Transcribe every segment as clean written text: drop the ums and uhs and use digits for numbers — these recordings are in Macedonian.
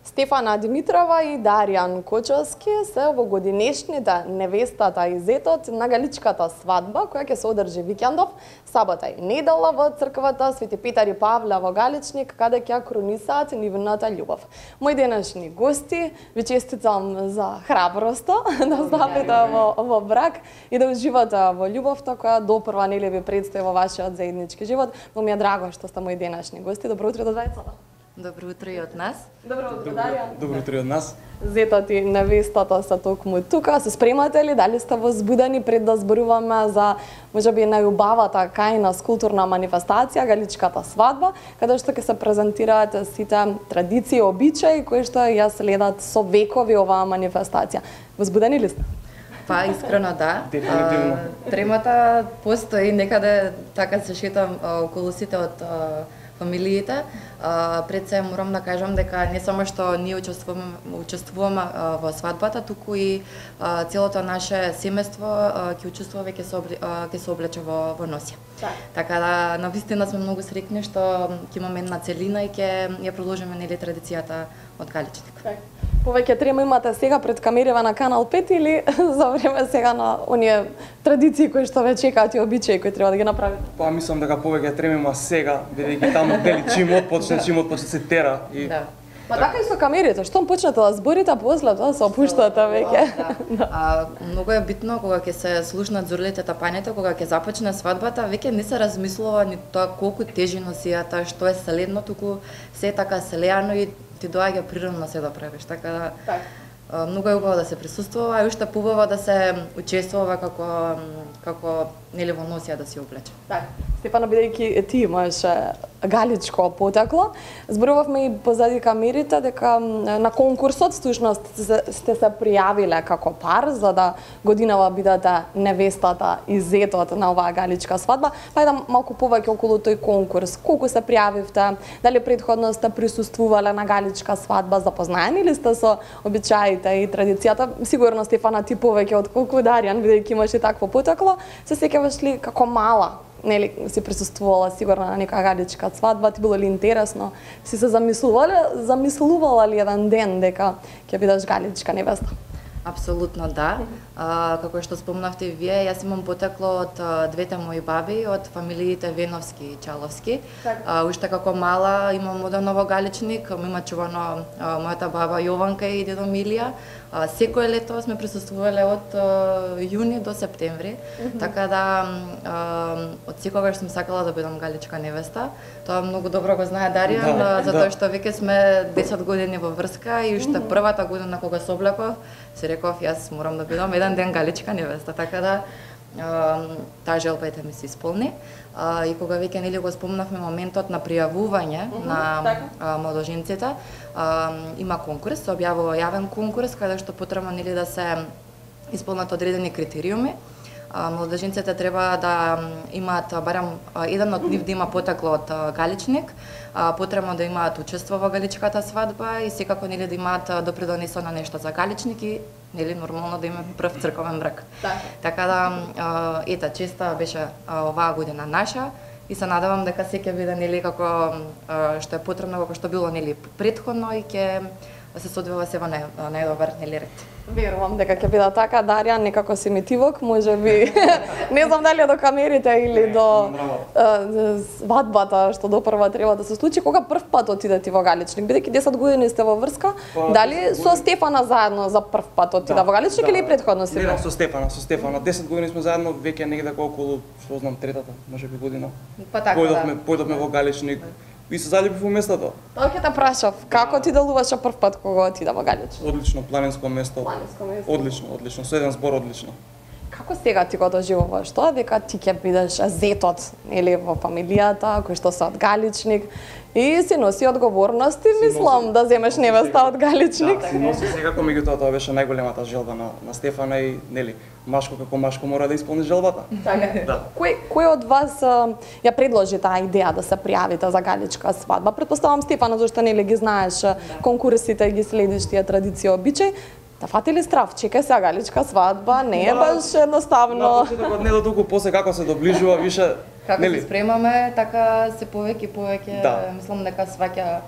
Стефана Димитрова и Даријан Кочовски се во годинешните невестата и зетот на галичката свадба, која ќе се одржи викендов, сабота и недела во црквата Свети Петар и Павле во Галичник, каде ќе крунисаат нивната љубов. Мои денешни гости, ви честитам за храброста да стапите во брак и да уживате во љубовта која допрва нели ви предстои во вашиот заеднички живот. Но ми е драго што сте мои денешни гости. Добро утро до двајцата. Добро утро и од нас. Добро утро, Даријан. Добро утро и од нас. Зетот и невестата се токму тука. Се спремате ли? Дали сте возбудени пред да зборуваме за можеби најубавата кајна скултурна манифестација галичката свадба, каде што ќе се презентираат сите традиции и обичаи кои што ја следат со векови оваа манифестација. Возбудени ли сте? Па искрено да. Дефинитивно. Тремата постои некаде, така се шетам околу сите од фамилиите. Пред се морам да кажам дека не само што ние учествуваме во свадбата, туку и целото наше семејство ќе учествува, ќе се облече во носија. Така да навистина сме многу среќни што ќе имаме една целина и ќе ја продолжиме нели традицијата од Галичник. Повеќе трема имате сега пред камерите на Канал 5 или за време сега на оние традиции кои што ве чекаат и обичаи кои треба да ги направите? Па мислам дека повеќе трема има сега, бидејќи таму дели чим отпочне се тера и Да. Па така и со камерите, штом почнете да зборите, после тоа се опуштате веќе. Многу е битно кога ќе се слушнат зорлите тапањето, кога ќе започне свадбата, веќе не се размислува ни тоа колку тежи носијата, што е селедно, туку се така селеано и ти доаѓа природно се да правиш. Така да многу е убаво да се присуствува и уште поубаво да се учествува како нели во носија да се облече. Стефана, бидејќи ти имаш галичко потекло, зборувавме и позади камерите дека на конкурсот всушност сте се пријавиле како пар за да годинава бидете невестата и зетот на оваа галичка свадба. Па да малку повеќе околу тој конкурс. Колку се пријавивте? Дали претходно сте присуствувале на галичка свадба? Запознаени ли сте со обичаите и традицијата? Сигурно Стефана ти повеќе отколку Даријан, бидејќи имаш и такво потекло. Се сеќаваш ли како мала? Нели си присуствувала сигурно на некоја галичка свадба, ти било ли интересно? Си се замислувала ли еден ден дека ќе бидеш галичка невеста? Апсолутно да. Како што спомнавте и вие, јас имам потекло од двете мои баби, од фамилиите Веновски и Чаловски. Уште како мала имам одено во Галичник, има чувано мојата баба Јованка и дедо Милија. Секое лето сме присуствувале од јуни до септември, така да од секогаш сум сакала да бидам галичка невеста. Тоа многу добро го знае Даријан, затоа што веќе сме 10 години во врска и уште првата година кога се облеков, се реков јас морам да бидам еден ден галичка невеста, така да таа желба ми се исполни. И кога веќе нели го спомнавме моментот на пријавување на младоженците, има конкурс, се објавува јавен конкурс каде што потребно нели да се исполнат одредени критериуми. Младоженците треба да имаат барем еден од нив да има потекло од Галичник, потребно да имаат учество во галичката свадба и секако нели да имаат допридонесено нешто за Галичник и нели нормално да има прв црковен брак. Така да ета честа беше оваа година наша и се надевам дека се ќе биде нели како што е потребно, како што било нели претходно и ќе се соодвива се во најдобар нели ред. Верувам дека ќе биде така. Даријан, некако си митивок, можеби не знам дали до камерите или до свадбата што допрва треба да се случи. Кога прв пат отиде ти во Галичник? Бидејќи 10 години сте во врска, дали со Стефана заедно за прв пат отиде во Галичник или претходно си? Не, со Стефана. 10 години сме заедно, веќе негде околу, што знам, третата, можеби година. Па така Појдовме во Галичник. И се залюбив во местото. Тоа ќе те прашав, како ти делуваше прв пат кога отиде во Галичник? Одлично, планинско место. Одлично, со еден збор одлично. Како сега ти го доживуваш тоа дека ти ќе бидеш зетот или во фамилијата кој што се од Галичник и си носи одговорности, мислам, да земеш невеста од Галичник? Си носи секако, меѓутоа тоа беше најголемата желба на Стефана и нели машко како машко мора да исполни желбата. Така. Кој од вас ја предложи таа идеја да се пријавите за галичка свадба? Претпоставам Стефана, зашто нели ги знаеш конкурсите и ги следиш тие традиции и обичаи. Да фати ли страв? Чекај сега галичка свадба, не е баш едноставно. Не до толку после како се доближува више, како се спремаме, така се повеќе, мислам дека сваќа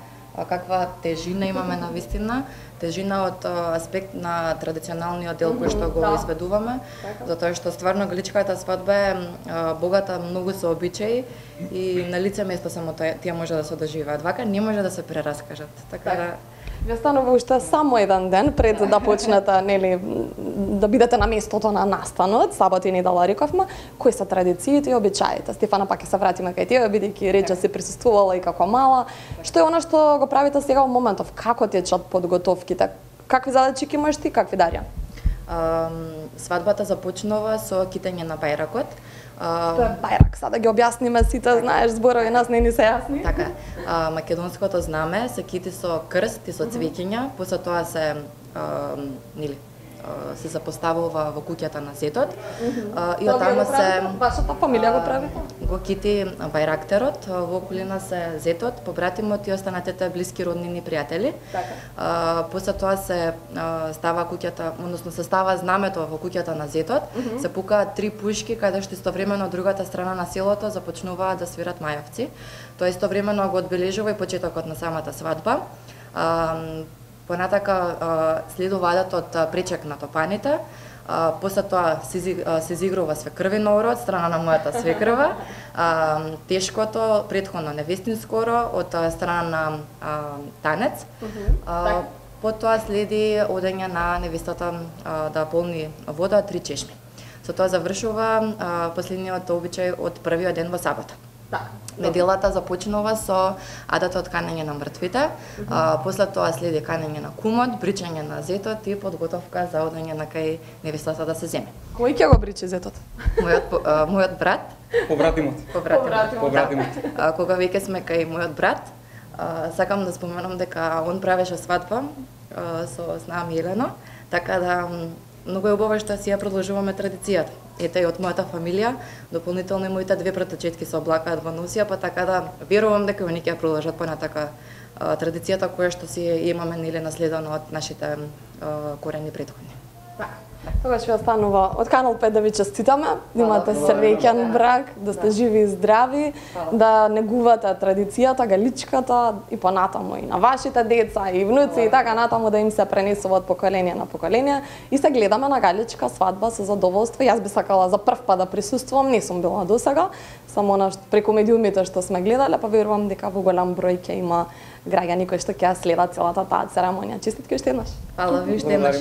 каква тежина имаме на вистина, тежина од аспект на традиционалниот дел кој што го изведуваме, затоа што стварно галичката свадба е богата многу со обичаи и на лице место само тие може да се доживеат. Вака не може да се прераскажат. Така да вие станува уште само еден ден пред да почнете, нели, да бидете на местото на настанот, сабота и недела рековме, кои се традициите и обичаите. Стефана, пак ќе се вратиме кај тебе, бидејќи рече си присуствувала и како мала. Што е она што го правите сега во моментов? Како течат подготовките? Какви задачи имаш ти, какви Дарија? Свадбата започнува со китење на бајракот. Тоа е бајрак, сега да ги објасниме сите, знаеш, зборови нас не ни се јасни. Така, македонското знаме се кити со крст и со цвеќиња, после тоа се се запоставува во куќата на зетот. И оттаму се вашата фамилија го прави? Го кити бајрактерот, во околина се зетот, побратимот и останатите блиски роднини пријатели. Така. После тоа се става куќата, односно се става знамето во куќата на зетот, се пукаат 3 пушки каде што истовремено од другата страна на селото започнуваат да свират мајавци. Тоа истовремено го одбележува и почетокот на самата свадба. Понатака следува адатот пречек на топаните, после тоа се изигрува свекрвино оро од страна на мојата свекрва, тешкото предходно невестинско оро од страна на танец. Потоа следи одење на невестата да полни вода 3 чешми. Со тоа завршува последниот обичај од првиот ден во сабота. Неделата започнува со адатот канење на мртвите, после тоа следи канење на кумот, бричање на зетот и подготовка за одење на кај невестата да се земе. Кој ќе го бричи зетот? Мојот брат. Побратимот. Кога веќе сме кај мојот брат, сакам да споменам дека он правеше свадба со снам Елена, така да многу е убаво што си ја продолжуваме традицијата. Ете и од мојата фамилија, дополнително и моите 2 братовчетки се облакаат во носија, па така да верувам дека они ќе ја продолжат понатака традицијата која што си имаме нели наследено од нашите корени претходни. Тогаш ви останува од Канал 5 да ви честитаме, да имате среќен брак, да сте живи и здрави, да негувате традицијата, галичката и понатаму и на вашите деца и внуци и така натаму да им се пренесува од поколение на поколение. И се гледаме на галичка свадба со задоволство. Јас би сакала за прв пат да присуствувам, не сум била досега, само преку медиумите што сме гледале, па верувам дека во голем број ќе има граѓани кои што ќе следат целата таа церемонија. Честитки уште еднаш. Фала ви уште еднаш.